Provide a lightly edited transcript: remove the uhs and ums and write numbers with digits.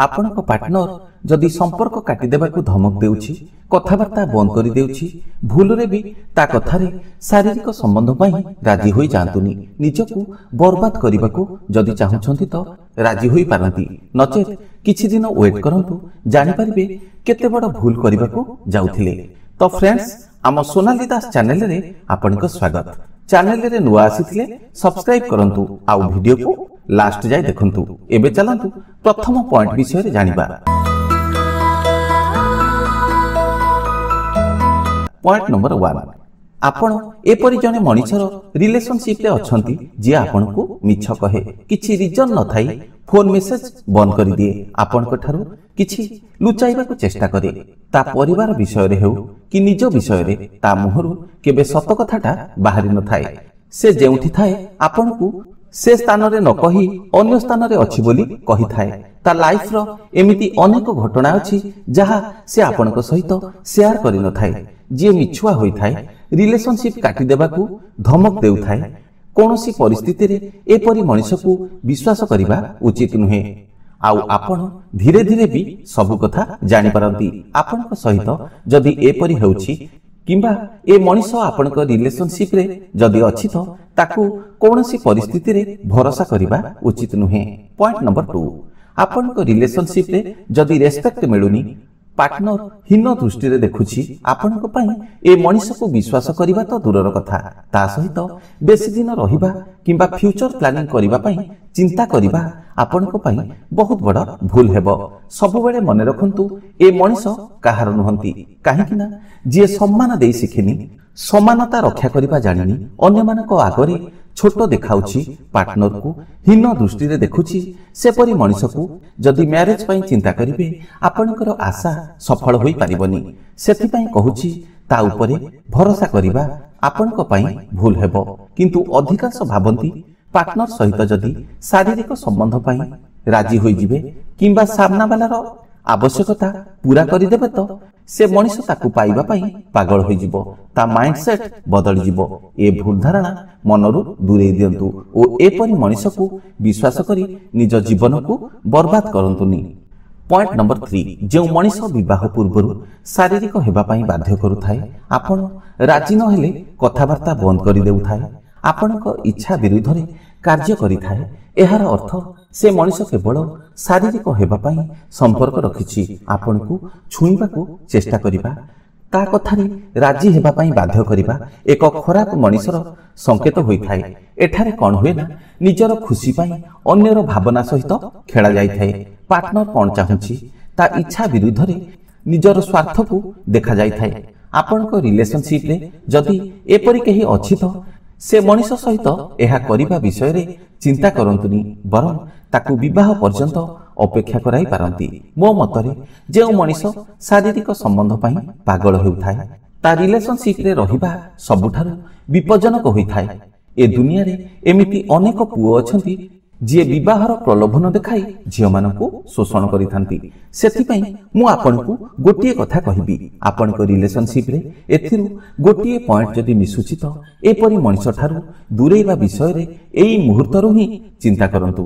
ଆପଣଙ୍କ ପାର୍ଟନର ଯଦି ସମ୍ପର୍କ କାଟିଦେବାକୁ ଧମକ ଦେଉଛି, କଥାବାର୍ତ୍ତା ବନ୍ଦ କରିଦେଉଛି, ଭୁଲରେ ବି ତା କଥାରେ ଶାରୀରିକ ସମ୍ବନ୍ଧ ପାଇଁ ରାଜି ହୋଇଯାଆନ୍ତୁନି। ନିଜକୁ ବର୍ବାଦ କରିବାକୁ ଯଦି ଚାହୁଁଛନ୍ତି ତ ରାଜି ହୋଇପାରନ୍ତି, ନଚେତ୍ କିଛି ଦିନ ୱେଟ୍ କରନ୍ତୁ, ଜାଣିପାରିବେ କେତେ ବଡ଼ ଭୁଲ କରିବାକୁ ଯାଉଥିଲେ। ତ ଫ୍ରେଣ୍ଡସ୍, ଆମ ସୋନାଲି ଦାସ ଚ୍ୟାନେଲରେ ଆପଣଙ୍କ ସ୍ୱାଗତ। ଚ୍ୟାନେଲରେ ନୂଆ ଆସିଥିଲେ ସବସ୍କ୍ରାଇବ କରନ୍ତୁ ଆଉ ଭିଡିଓକୁ ଲାଷ୍ଟ ଯାଏ ଦେଖନ୍ତୁ। ଏବେ ଚାଲନ୍ତୁ ପ୍ରଥମ ପଏଣ୍ଟ ବିଷୟରେ ଜାଣିବା। ପଏଣ୍ଟ ନମ୍ବର 1, ଆପଣ ଏପରି ଜଣେ ମଣିଷର ରିଲେସନସିପରେ ଅଛନ୍ତି ଯିଏ ଆପଣଙ୍କୁ ମିଛ କହେ, କିଛି ରିଜନ ନଥାଇ ଫୋନ ମେସେଜ ବନ୍ଦ କରିଦିଏ, ଆପଣଙ୍କ ଠାରୁ କିଛି ଲୁଚାଇବାକୁ ଚେଷ୍ଟା କରେ। ତା ପରିବାର ବିଷୟରେ ହେଉ କି ନିଜ ବିଷୟରେ ତା ମୁହଁରୁ କେବେ ସତ କଥାଟା ବାହାରି ନଥାଏ। ସେ ଯେଉଁଠି ଥାଏ ଆପଣଙ୍କୁ ସେ ସ୍ଥାନରେ ନ କହି ଅନ୍ୟ ସ୍ଥାନରେ ଅଛି ବୋଲି କହିଥାଏ। ତା ଲାଇଫର ଏମିତି ଅନେକ ଘଟଣା ଅଛି ଯାହା ସେ ଆପଣଙ୍କ ସହିତ ସେୟାର କରିନଥାଏ। ଯିଏ ମିଛୁଆ ହୋଇଥାଏ, ରିଲେସନସିପ କାଟିଦେବାକୁ ଧମକ ଦେଉଥାଏ, କୌଣସି ପରିସ୍ଥିତିରେ ଏପରି ମଣିଷକୁ ବିଶ୍ୱାସ କରିବା ଉଚିତ ନୁହେଁ। ଆଉ ଆପଣ ଧୀରେ ଧୀରେ ବି ସବୁ କଥା ଜାଣିପାରନ୍ତି। ଆପଣଙ୍କ ସହିତ ଯଦି ଏପରି ହେଉଛି କିମ୍ବା ଏ ମଣିଷ ଆପଣଙ୍କ ରିଲେସନସିପରେ ଯଦି ଅଛି ତ ତାକୁ କୌଣସି ପରିସ୍ଥିତିରେ ଭରସା କରିବା ଉଚିତ ନୁହେଁ। ପଏଣ୍ଟ ନମ୍ବର 2, ଆପଣଙ୍କ ରିଲେସନସିପରେ ଯଦି ରେସ୍ପେକ୍ଟ ମିଳୁନି, ପାର୍ଟନର ହୀନ ଦୃଷ୍ଟିରେ ଦେଖୁଛି, ଆପଣଙ୍କ ପାଇଁ ଏ ମଣିଷକୁ ବିଶ୍ୱାସ କରିବା ତ ଦୂରର କଥା, ତା ସହିତ ବେଶୀ ଦିନ ରହିବା କିମ୍ବା ଫ୍ୟୁଚର ପ୍ଲାନିଂ କରିବା ପାଇଁ ଚିନ୍ତା କରିବା ଆପଣଙ୍କ ପାଇଁ ବହୁତ ବଡ଼ ଭୁଲ ହେବ। ସବୁବେଳେ ମନେ ରଖନ୍ତୁ, ଏ ମଣିଷ କାହାର ନୁହନ୍ତି। କାହିଁକି ନା ଯିଏ ସମ୍ମାନ ଦେଇ ଶିଖିନି, ସମାନତା ରକ୍ଷା କରିବା ଜାଣିନି, ଅନ୍ୟମାନଙ୍କ ଆଗରେ ଛୋଟ ଦେଖାଉଛି, ପାର୍ଟନରକୁ ହୀନ ଦୃଷ୍ଟିରେ ଦେଖୁଛି, ସେପରି ମଣିଷକୁ ଯଦି ମ୍ୟାରେଜ ପାଇଁ ଚିନ୍ତା କରିବେ ଆପଣଙ୍କର ଆଶା ସଫଳ ହୋଇପାରିବନି। ସେଥିପାଇଁ କହୁଛି, ତା ଉପରେ ଭରସା କରିବା ଆପଣଙ୍କ ପାଇଁ ଭୁଲ ହେବ। କିନ୍ତୁ ଅଧିକାଂଶ ଭାବନ୍ତି ପାର୍ଟନର ସହିତ ଯଦି ଶାରୀରିକ ସମ୍ବନ୍ଧ ପାଇଁ ରାଜି ହୋଇଯିବେ କିମ୍ବା ସାମ୍ନାବାଲାର ଆବଶ୍ୟକତା ପୂରା କରିଦେବେ ତ ସେ ମଣିଷ ତାକୁ ପାଇବା ପାଇଁ ପାଗଳ ହୋଇଯିବ, ତା ମାଇଣ୍ଡ ସେଟ୍ ବଦଳିଯିବ। ଏ ଭୁଲ ଧାରଣା ମନରୁ ଦୂରେଇ ଦିଅନ୍ତୁ ଓ ଏପରି ମଣିଷକୁ ବିଶ୍ୱାସ କରି ନିଜ ଜୀବନକୁ ବର୍ବାଦ କରନ୍ତୁନି। ପଏଣ୍ଟ ନମ୍ବର 3, ଯେଉଁ ମଣିଷ ବିବାହ ପୂର୍ବରୁ ଶାରୀରିକ ହେବା ପାଇଁ ବାଧ୍ୟ କରୁଥାଏ, ଆପଣ ରାଜି ନହେଲେ କଥାବାର୍ତ୍ତା ବନ୍ଦ କରିଦେଉଥାଏ, ଆପଣଙ୍କ ଇଚ୍ଛା ବିରୁଦ୍ଧରେ କାର୍ଯ୍ୟ କରିଥାଏ, ଏହାର ଅର୍ଥ ସେ ମଣିଷ କେବଳ ଶାରୀରିକ ହେବା ପାଇଁ ସମ୍ପର୍କ ରଖିଛି। ଆପଣଙ୍କୁ ଛୁଇଁବାକୁ ଚେଷ୍ଟା କରିବା, ତା କଥାରେ ରାଜି ହେବା ପାଇଁ ବାଧ୍ୟ କରିବା ଏକ ଖରାପ ମଣିଷର ସଂକେତ ହୋଇଥାଏ। ଏଠାରେ କ'ଣ ହୁଏ ନା, ନିଜର ଖୁସି ପାଇଁ ଅନ୍ୟର ଭାବନା ସହିତ ଖେଳା ଯାଇଥାଏ। ପାର୍ଟନର କ'ଣ ଚାହୁଁଛି ତା ଇଚ୍ଛା ବିରୁଦ୍ଧରେ ନିଜର ସ୍ୱାର୍ଥକୁ ଦେଖାଯାଇଥାଏ। ଆପଣଙ୍କ ରିଲେସନସିପରେ ଯଦି ଏପରି କେହି ଅଛି ତ ସେ ମଣିଷ ସହିତ ଏହା କରିବା ବିଷୟରେ ଚିନ୍ତା କରନ୍ତୁନି, ବରଂ ତାକୁ ବିବାହ ପର୍ଯ୍ୟନ୍ତ ଅପେକ୍ଷା କରାଇ ପାରନ୍ତି। ମୋ ମତରେ ଯେଉଁ ମଣିଷ ଶାରୀରିକ ସମ୍ବନ୍ଧ ପାଇଁ ପାଗଳ ହେଉଥାଏ ତା ରିଲେସନସିପରେ ରହିବା ସବୁଠାରୁ ବିପଜ୍ଜନକ ହୋଇଥାଏ। ଏ ଦୁନିଆରେ ଏମିତି ଅନେକ ପୁଅ ଅଛନ୍ତି ଯିଏ ବିବାହର ପ୍ରଲୋଭନ ଦେଖାଇ ଝିଅମାନଙ୍କୁ ଶୋଷଣ କରିଥାନ୍ତି। ସେଥିପାଇଁ ମୁଁ ଆପଣଙ୍କୁ ଗୋଟିଏ କଥା କହିବି, ଆପଣଙ୍କ ରିଲେସନସିପରେ ଏଥିରୁ ଗୋଟିଏ ପଏଣ୍ଟ ଯଦି ମିଶୁଛି ତ ଏପରି ମଣିଷ ଠାରୁ ଦୂରେଇବା ବିଷୟରେ ଏଇ ମୁହୂର୍ତ୍ତରୁ ହିଁ ଚିନ୍ତା କରନ୍ତୁ।